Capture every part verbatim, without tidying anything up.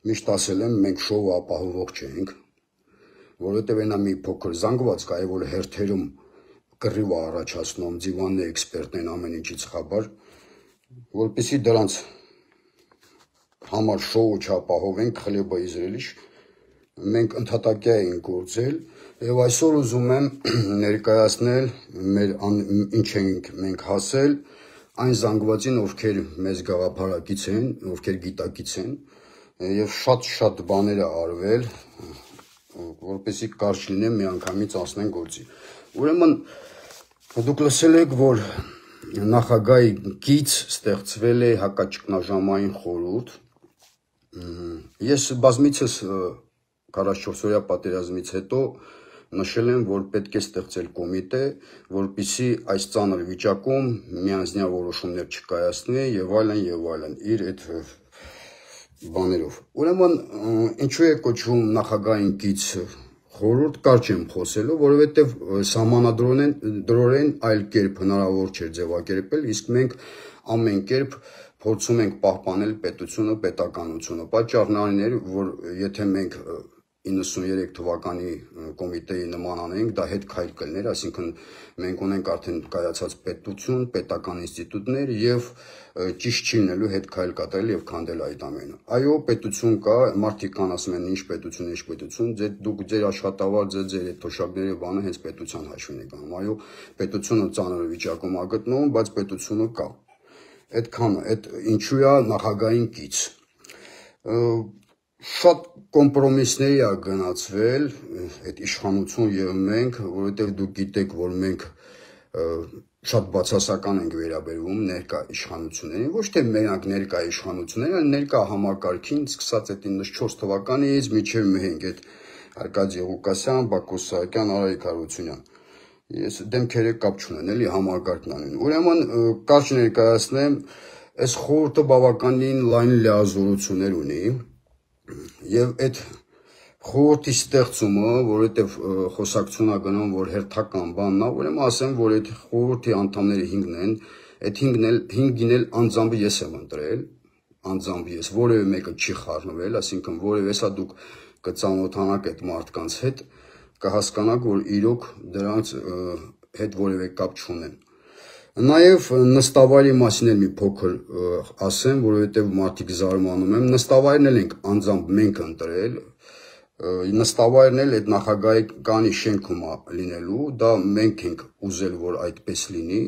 Միշտ ասել եմ, մենք շոու ապահովող չենք, որովհետև այնա մի փոքր զանգված կա, որ հերթերում կռիվ է առաջացնում, դիվանն էքսպերտն են ամեն ինչից խաբար, որպեսզի դրանց համար շոու չապահովենք, խլեբը իզրելիշ, մենք ընդհատակյա ենք գործել, եւ այսօր ուզում եմ ներկայացնել մեր ինչ ենք մենք հասել այն զանգվածին, ովքեր մեզ գաղափարակից են, ովքեր գիտակից են, եւ շատ-շատ բաներ է արվել, որպեսզի կարճ լինեմ միանգամից անցնենք գործի։ Ուրեմն դուք լսել եք, որ նախագահի կից ստեղծվել է հակաճգնաժամային խորհուրդ։ Ես բազմիցս քառասունչորսօրյա պատերազմից հետո նշել եմ, որ պետք է ստեղծել կոմիտե, որպեսզի այս ծանր վիճակում միանձնյա որոշումներ չկայացնի եւ այլն եւ այլն իր այդ բաներով։ Ուրեմն ինչու է կոչվում նախագահային կից խորհուրդ, կարճ եմ խոսելու, որովհետեւ սահմանադրորեն այլ կերպ հնարավոր չէ ձևակերպել, իսկ մենք ամեն կերպ փորձում ենք պահպանել պետությունը, պետականությունը։ Պատճառն այն էր, որ եթե մենք իննսուններեք թվականի կոմիտեի նման անենք, դա հետ քայլ կլներ, այսինքն մենք ունենք արդեն կայացած պետություն, պետական ինստիտուտներ եւ ճիշտ չի լինելու հետ քայլ կատարել եւ քանդել այդ ամենը։ Այո, պետություն կա, մարդիկ կան ասում են ինչ պետություն, ինչ պետություն, ձեր դուք ձեր աշխատավարձը, ձեր այդ թոշակների բանը հենց պետության հաշվին է գնում։ Այո, պետությունը ծանր վիճակում է գտնվում, բայց պետությունը կա։ Այդքանը, այդ ինչու է նախագահային կից։ Շատ կոմպրոմիսների է գնացվել այդ իշխանություն եւ մենք, որովհետեւ դուք գիտեք, որ մենք շատ բացասական ենք վերաբերվում ներկա իշխանություններին, ոչ թե մենակ ներկա իշխանություններին, այլ ներկա համակարգին, սկսած այդ իննսունչորս թվականից մինչեւ մենք այդ Արկադի Ղուկասյան, Բակո Սահակյան, Արայիկ Հարությունյան։ Ես դեմքերը կապ չունեն, էլի համակարգն անեն։ Ուրեմն կարճ ներկայացնեմ, այս խորհուրդը բավականին լայն լիազորություններ ունի եւ այդ խորհրդի ստեղծումը, որովհետեւ խոսակցություն է գնում, որ հերթական բանն է, ուրեմն ասեմ, որ այդ խորհրդի անդամները հինգն են, այդ հինգն էլ հինգին էլ անձամբ ես եմ ընտրել, անձամբ ես, որևէ մեկը չի խառնվել, այսինքն որևէ հեսա դուք կծանոթանաք այդ մարդկանց հետ, կհասկանաք, որ իրոք դրանց հետ որևէ կապ չունեն։ Նաև նստավայրի մասին էլ մի փոքր ասեմ, որովհետև մարդիկ զարմանում եմ, նստավայրն էլ ենք անձամբ մենք ընտրել, նստավայրն էլ այդ նախագահականի շենքում է լինելու, դա մենք ենք ուզել, որ այդպես լինի,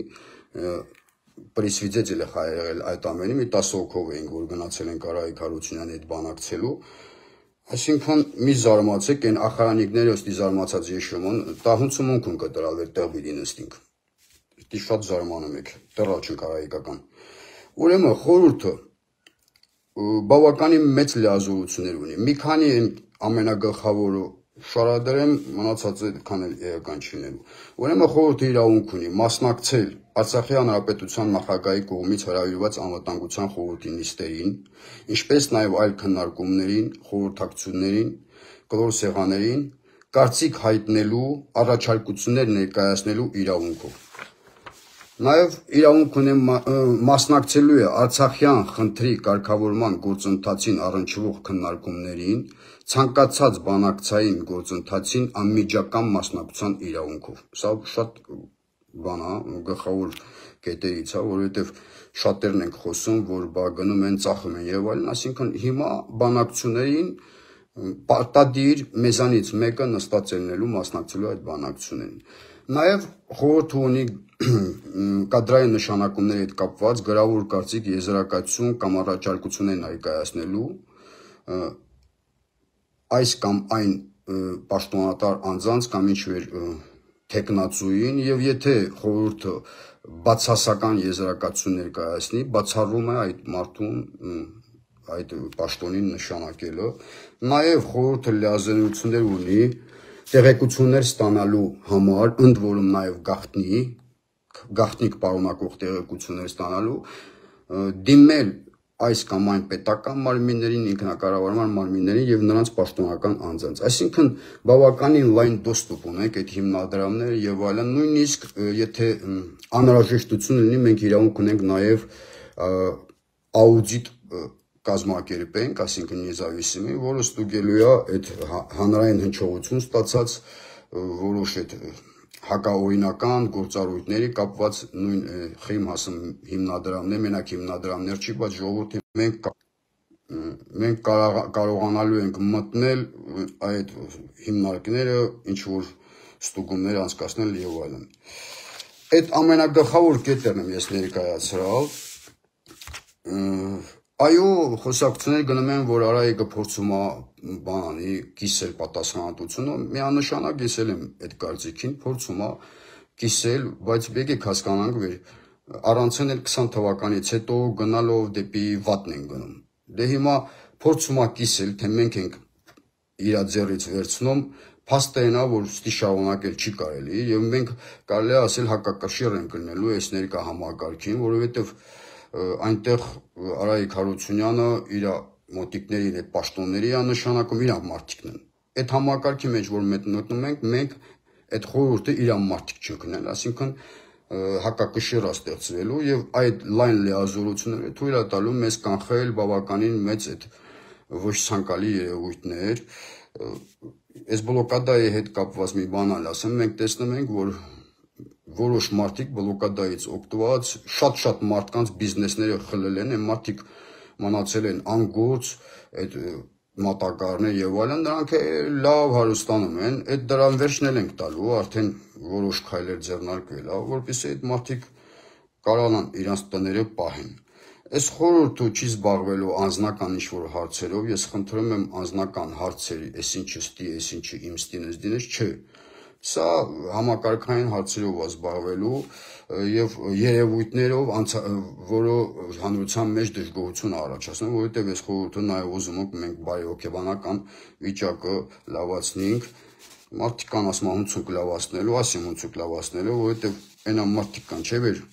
պրեսվիձեցել է եղել այդ ամենը, մի տասը հոգով էինք, որ գնացել ենք Արայիկ Հարությունյանի հետ բանակցելու, այսինքն մի զարմացեք, այն ախարանիկները ոստի զարմացած եշումն, տահունցումունք են կտրալ էր տեղ բիդի նստինք, դի շատ զարմանում եք, տեղալ չենք արայիկական, ուրեմն խորհուրդը բավականին մեծ լիազորություններ ունի, մի քանի ամենագլխավորը շարադրեմ, մնացած այդքան էլ էական չի լինելու, ուրեմն խորհուրդը իրավունք ունի մասնակցել Արցախի հանրապետության նախագահի կողմից հրավիրված անվտանգության խորհրդի նիստերին, ինչպես նաև այլ քննարկումներին, խորհրդակցություններին, կլոր սեղաններին, կարծիք հայտնելու, առաջարկություններ ներկայացնելու իրավունքով։ Նաև իրավունք ունեմ մասնակցելու է Արցախյան խնդրի կարգավորման գործընթացին առնչվող քննարկումներին, ցանկացած բանակցային գործընթացին անմիջական մասնակցության իրավունքով։ Սա շատ բան է, գլխավոր կետերից է, որովհետև շատերն ենք խոսում, որ բա գնում են, ծախում են եւ այլն, այսինքն հիմա բանակցություններին պարտադիր մեզանից մեկը նստած ելնելու մասնակցելու այդ բանակցություններին։ Նաև խորհուրդը ունի կադրային նշանակումների հետ կապված գրավոր կարծիք եզրակացություն կամ առաջարկություններ ներկայացնելու այս կամ այն պաշտոնատար անձանց կամ ինչ-որ թեկնածուին եւ եթե խորհուրդը բացասական եզրակացություն ներկայացնի, բացառվում է այդ մարդուն այդ պաշտոնին նշանակելը, նաև խորհուրդը լիազորություններ ունի տեղեկություններ ստանալու համար, ընդ որում նաև գաղտնի, գաղտնիք պարունակող տեղեկություններ ստանալու, դիմել այս կամ այն պետական մարմիններին, ինքնակառավարման մարմիններին եւ նրանց պաշտոնական անձանց։ Այսինքն բավականին լայն դոստուպ ունենք այդ հիմնադրամները եւ այլն, նույնիսկ եթե անհրաժեշտություն լինի, մենք իրավունք ունենք նաեւ աուդիտ կազմակերպենք, այսինքն նեզավիսիմի, որը ստուգելու է այդ հանրային հնչողություն ստացած որոշ այդ հակաօրինական գործառույթների կապված նույն խիմ հասım հիմնադրամներ, մենակ հիմնադրամներ չի, բայց ժողովրդի մենք մենք կարողանալու ենք մտնել այդ հիմնարկները, ինչ որ ստուգումներ անցկացնել եւ այլն։ Այդ ամենագլխավոր կետերն եմ ես ներկայացրալ։ Այո, խոսակցություններ գնում են, որ Արայիկը փորձում է բանի կիսել պատասխանատվությունը, միանշանակ ես էլ եմ այդ կարծիքին, փորձում է կիսել, բայց եկեք հասկանանք, որ առանցեն էլ քսան թվականից հետո գնալով դեպի վատն են գնում։ Դե հիմա փորձում է կիսել, թե մենք ենք իր ձեռից վերցնում, փաստը այն է, որ ստի շարունակել չի կարելի, եւ մենք կարելի է ասել հակակշիռ ենք գնելու այս ներկա համակարգին, որովհետեւ այնտեղ Արայիկ Հարությունյանը իր մոտիկներին, այդ պաշտոնների է նշանակում իր մարդիկն են։ Այդ համակարգի մեջ, որ մտնում ենք, մենք այդ խորհուրդը իր մարդիկ չընկնել, այսինքն հակակշիռ է ստեղծվելու եւ այդ լայն լիազորությունները թույլ է տալու մեզ կանխել բավականին մեծ այդ ոչ ցանկալի երևույթներ։ Այս բլոկադայի հետ կապված մի բան ասեմ, մենք տեսնում ենք, որ որոշ մարդիկ բլոկադայից օգտված շատ-շատ մարդկանց բիզնեսները խլել են, այն մարդիկ մնացել են անգործ, այդ մատակարարներ եւ այլն, նրանք լավ հարստանում են, այդ դրան վերջն ենք տալու, արդեն որոշ քայլեր ձեռնարկվել է, որպեսզի այդ մարդիկ կարողանան իրենց տները պահեն։ Այս խորհուրդը չի զբաղվելու անձնական ինչ-որ հարցերով, ես խնդրում եմ անձնական հարցերի, այսինչը ստի, այսինչը իմ ստինս դինես, չէ։ Սա համակարգային հարցերով է զբաղվելու եւ երևույթներով, որը հանրության մեջ դժգոհություն է առաջացնում, որովհետեւ այս խորհուրդը նաեւ ուզում ենք մենք բարեհոգեբանական վիճակը լավացնենք, մարդիկ կան ասում հունցուկ լավացնելու, ասեմ հունցուկ լավացնելու, որովհետեւ այնա մարդիկ կան, չէ՞ որ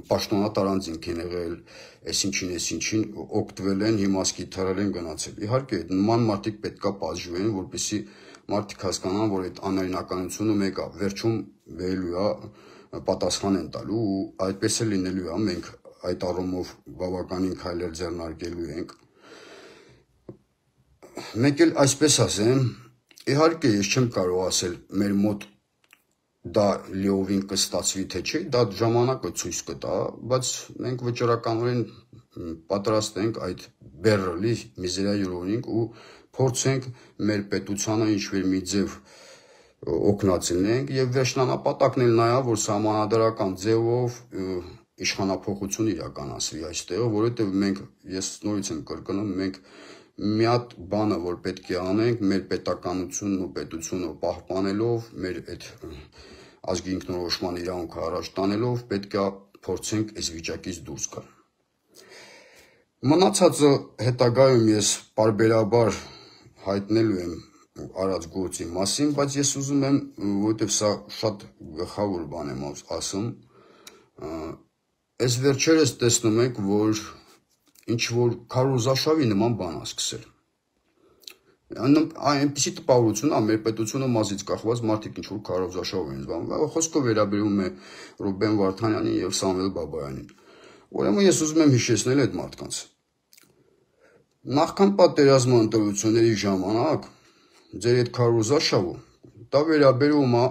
պաշտոնատար անձինք են եղել, այսինչին, այսինչին օգտվել են, հիմա սկիթարել են գնացել։ Իհարկե, նման մարդիկ պետքա պատժվեն, որպեսզի մարդիկ հասկանան, որ այդ անօրինականությունը մեկը վերջում վերելու է պատասխան են տալու ու այդպես է լինելու է, մենք այդ առումով բավականին քայլեր ձեռնարկելու ենք։ Մեկ էլ այսպես ասեմ, իհարկե ես չեմ կարող ասել մեր մոտ դա լիովին կստացվի թե չէ, դա ժամանակը ցույց կտա, բայց մենք վճռականորեն պատրաստ ենք այդ բեռլի միզերիա յուրոնինք ու փորձենք մեր պետությանը ինչ-որ մի ձև օգնացնենք եւ վերջնանապատակն էլ նա է, որ համանդրական ձևով իշխանապողություն իրականացվի այստեղ, որովհետեւ մենք ես նորից եմ կրկնում, մենք մի հատ բանը, որ պետք է անենք, մեր պետականությունն ու պետությունը պահպանելով, մեր այդ ազգի ինքնորոշման իրավունքը առաջ տանելով, պետք է փորձենք այս վիճակից դուրս գալ։ Մնացածը հետագայում ես պարբերաբար հայտնելու եմ արած գործի մասին, բայց ես ուզում եմ, որովհետև սա շատ գլխավոր բան եմ ասում, այս վերջերս տեսնում եք, որ ինչ որ քարոզաշավի նման բան է սկսել։ Այնպիսի տպավորություն է, մեր պետությունը մազից կախված մարդիկ ինչ որ քարոզաշավ են զբաղվում, խոսքը վերաբերում է Ռուբեն Վարդանյանին եւ Սամվել Բաբայանին։ Ուրեմն ես ուզում եմ հիշեցնել այդ մարդկանց։ Նախքան պատերազմի ընտրությունների ժամանակ ձեր այդ քարոզաշավը դա վերաբերում է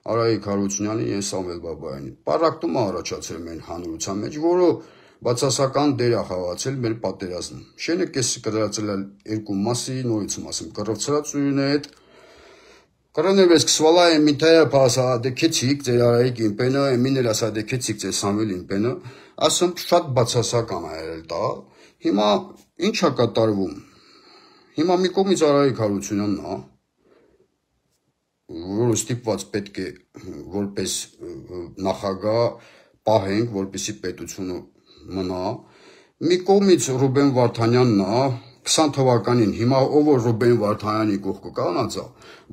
Արայիկ Հարությունյանին եւ Սամվել Բաբայանին։ Պարակտում է առաջացել մեր հանրության մեջ, որը բացասական դեր է խաղացել մեր պատերազմում։ Շենը կես կրացել է երկու մասի, նորից ասեմ, կռվցրածույն է այդ կրոներվես կսվալա է միտայա փասադեքեցիկ ձեր Արայիկ իմպենը, էմինել ասադեքեցիկ ձեր Սամվել իմպենը, ասում շատ բացասական է եղել դա։ Հիմա ինչ է կատարվում։ Հիմա մի կողմից Արայիկ Հարությունյանն է, որը ստիպված պետք է որպես նախագահ պահենք, որպեսզի պետությունը մնա, մի կողմից Ռուբեն Վարդանյանն է, քսան թվականին, հիմա ով որ Ռուբեն Վարդանյանի կողքը կանացա,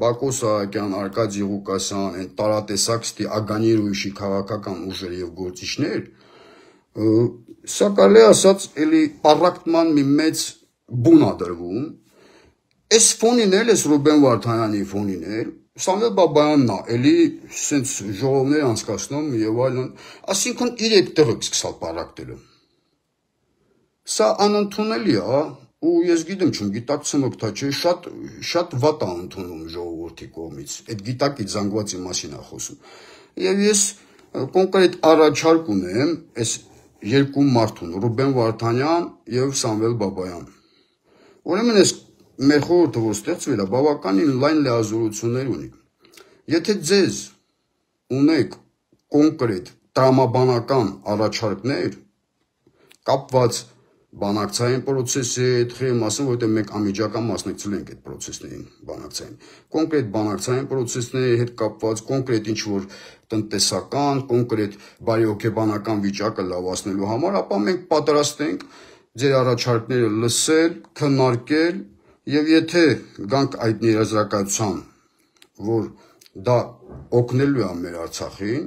Բակո Սահակյան, Արկադի Ղուկասյան, այն տարատեսակ ստի ագանիր ուրիշի քաղաքական ուժեր եւ գործիչներ, սա կարելի ասած էլի պարակտման մի մեծ բուն է դրվում, այս ֆոնին էլ, այս Ռուբեն Վարդանյանի ֆոնին էլ, Սամվել Բաբայանն է, էլի սենց ժողովներ անցկացնում եւ այլն, այսինքն իր այդ տեղը սկսալ պարակտելու։ Սա անընդունելի է, ու ես գիտեմ չեմ գիտակցում եք, թե չէ, շատ շատ վատ է ընդունում ժողովրդի կողմից։ Այդ գիտակից զանգվածի մասին է խոսում։ Եվ ես կոնկրետ առաջարկ ունեմ այս երկու մարդուն՝ Ռուբեն Վարդանյան եւ Սամվել Բաբայան։ Ուրեմն այս մեր խորհուրդը, որ ստեղծվել է, բավականին լայն լիազորություններ ունի։ Եթե ձեզ ունեք կոնկրետ տրամաբանական առաջարկներ կապված բանակցային process-ի հետ, խեմ ասեմ, որտեղ մենք անմիջական մասնակցել ենք այդ process-ներին բանակցային։ Կոնկրետ բանակցային process-ների հետ կապված, կոնկրետ ինչ-որ տնտեսական, կոնկրետ բարեհոգեբանական վիճակը լավացնելու համար, ապա մենք պատրաստ ենք ձեր առաջարկները լսել, քննարկել, եւ եթե գանք այդ ներազրակացության, որ դա օգնելու է մեր Արցախին,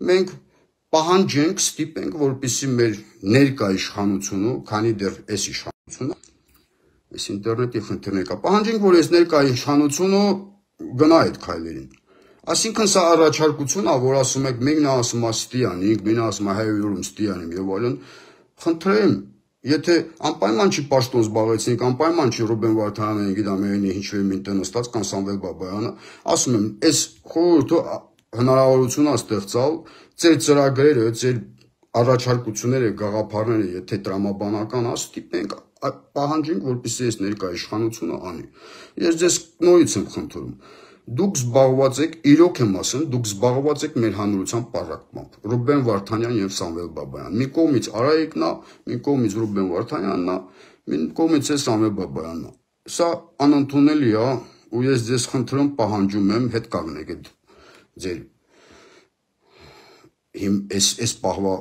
մենք պահանջենք, ստիպենք, որպեսզի մեր ներկա իշխանությունը, քանի դեռ այս իշխանությունը, այս ինտերնետի խնդիրն է, պահանջենք, որ այս ներկա իշխանությունը գնա այդ քայլերին։ Այսինքն սա առաջարկություն է, որ ասում եք, մեկն է ասում է ստիանիկ, մեկն է ասում է հայերում ստիանիմ եւ այլն, խնդրեմ, եթե անպայման չի պաշտոն զբաղեցնենք, անպայման չի Ռուբեն Վարդանյանը, գիտեմ, ինչ-որ մի տեղ նստած կամ Սամվել Բաբայանը, ասում եմ, այս խորհուրդը հնարավորություն է ստեղծալ ձեր ծրագրերը, ձեր առաջարկությունները, գաղափարները, եթե տրամաբանական է, ստիպենք, պահանջենք, որպեսզի այս ներկա իշխանությունը անի։ Ես ձեզ նորից եմ խնդրում, դուք զբաղված եք, իրոք եմ ասում, դուք զբաղված եք մեր հանրության պարակմամբ, Ռուբեն Վարդանյան եւ Սամվել Բաբայան։ Մի կողմից Արայիկն է, մի կողմից Ռուբեն Վարդանյանն է, մի կողմից է Սամվել Բաբայանն է։ Սա անընդունելի է, ու ես ձեզ խնդրում, պահանջում եմ, հետ կանգնեք այդ ձեր այս այս պահվա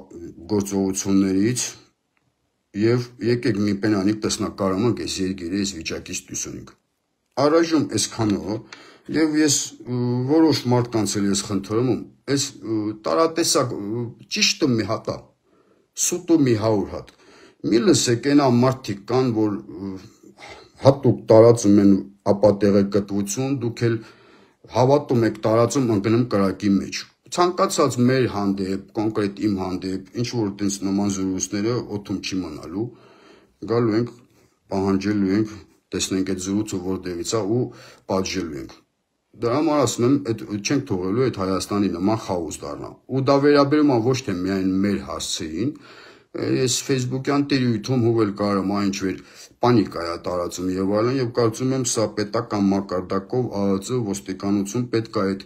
գործողություններից եւ եկեք մի պենանիկ տեսնակարամանք այս երկիրը այս վիճակից դուսունենք։ Առայժմ այսքանը եւ ես որոշ մարդկանց էլ ես խնդրում եմ, այս տարատեսակ ճիշտը մի հատ է, սուտը մի հարյուր հատ։ Մի լսեք այնա մարդիկ կան, որ հատուկ տարածում են ապատեղեկատվություն, դուք էլ հավատում եք տարածում ընկնում կրակի մեջ։ Ցանկացած մեր հանդեպ, կոնկրետ իմ հանդեպ, ինչ որ տենց նման զրույցները օդում չի մնալու, գալու ենք, պահանջելու ենք, տեսնենք այդ զրույցը որտեղից է ու պատժելու ենք։ Դրա համար ասում եմ, այդ չենք թողելու այդ Հայաստանի նման խաոս դառնա։ Ու դա վերաբերում է ոչ թե միայն մեր հասցեին, ես Facebook-յան տիրույթում հուվել կարում այն ինչ-որ պանիկա է տարածում եւ այլն, եւ կարծում եմ սա պետական մակարդակով ԱԱԾ ոստիկանություն պետք է այդ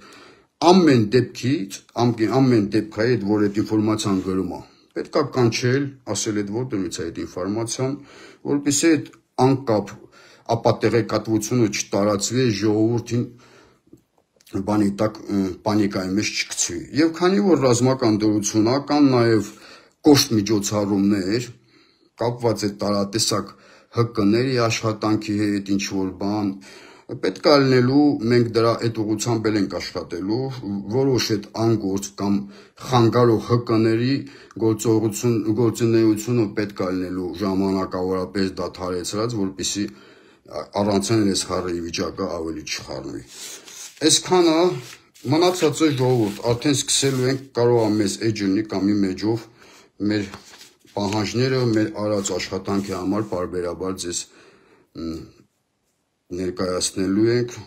ամեն դեպքից, ամեն դեպք է այդ, որ այդ ինֆորմացիան գրում է, պետք է կանչել, ասել այդ որտեղից է այդ ինֆորմացիան, որպեսզի այդ անկապ ապատեղեկատվությունը չտարածվի ժողովրդին բանի տակ պանիկայի մեջ չգցվի։ Եվ քանի որ ռազմական դրություն է, կան նաև կոշտ միջոցառումներ, կապված այդ տարատեսակ ՀԿ-ների աշխատանքի հետ, ինչ որ բան, պետք է լինելու, մենք դրա այդ ուղղությամբ ենք աշխատելու, որոշ այդ անգործ կամ խանգարող ՀԿ-ների գործունեությունը պետք է լինելու ժամանակավորապես դադարեցրած, որպեսզի առանցեն այս խառի վիճակը ավելի չխառնվի։ Այսքանը մնացածը ժողովուրդ, արդեն սկսելու ենք, կարող է մեզ էջնի կամ մի մեջով մեր պահանջները, մեր արած աշխատանքի համար պարբերաբար ձեզ ներկայացնելու ենք,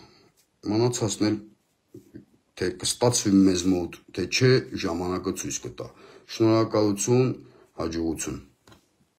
մնացածն էլ թե կստացվի մեզ մոտ, թե չէ, ժամանակը ցույց կտա։ Շնորհակալություն, հաջողություն։